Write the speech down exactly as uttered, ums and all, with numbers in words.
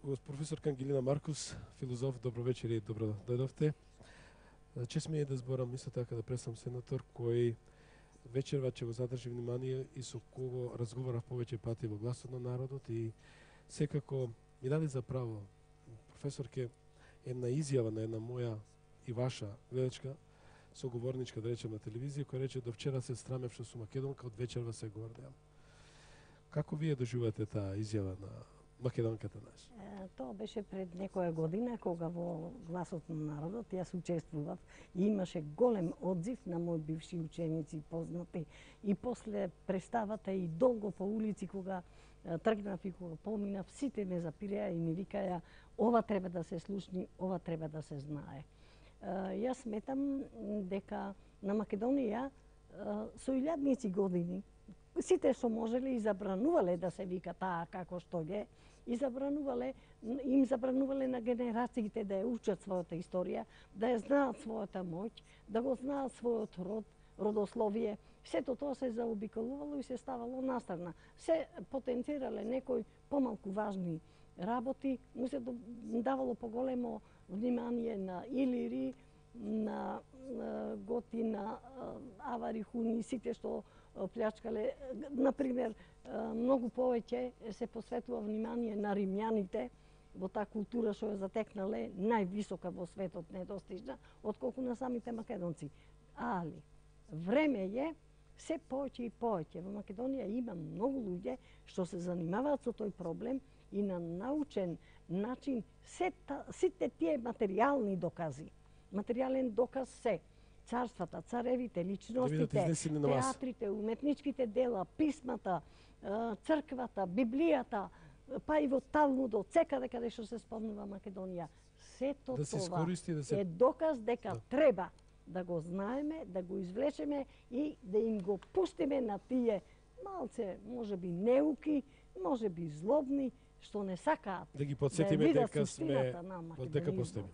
професор Ангелина Маркус, филозоф, добро вечер и добро дојдовте. Чест ми е да зборам исто така да представам сенатор кој вечерва ќе го задржи внимание и со кого разговарав повеќе пати во Гласот на народот и секако ми даде за право професорке една изјава на една моја и ваша гледачка соговорничка, да речем, на телевизија, која рече: до вчера се срамев што сум македонка, од вечерва се гордеам. Како вие доживувате таа изјава на македонката наша? Тоа беше пред некоја година, кога во Гласот на народот јас учествував и имаше голем одзив на мои бивши ученици и познати. И после представата и долго по улици, кога тргнав и кога поминав, сите ме запираја и ми викаја: ова треба да се слушни, ова треба да се знае. Јас сметам дека на Македонија со илјадници години сите што можеле и забранувале да се вика таа како што е, и забранувале, им забранувале на генерациите да ја учат својата историја, да ја знаат својата моќ, да го знаат својот род, родословие. Сето тоа се заобиколувало и се ставало настрана. Се потенцирале некои помалку важни работи, му се давало поголемо внимание на Илири, на Готи, на Авари, Хуни, сите што плячкале. Например, многу повеќе се посветува внимание на римјаните, во таа култура што ја затекнале највисока во светот, недостижна, отколку на самите македонци. Али, време е се повеќе и повеќе. Во Македонија има многу луѓе што се занимаваат со тој проблем и на научен начин сета, сите тие материјални докази. Материјален доказ се царствата, царевите, личностите, театрите, уметничките дела, писмата, црквата, Библијата, па и во Талмудот, секаде каде што се спомнува Македонија. Сето да това да се... е доказ дека да. Треба да го знаеме, да го извлечеме и да им го пустиме на тие малце, можеби неуки, можеби злобни, што не сакаат да ги подсетиме да дека сме, дека постоиме.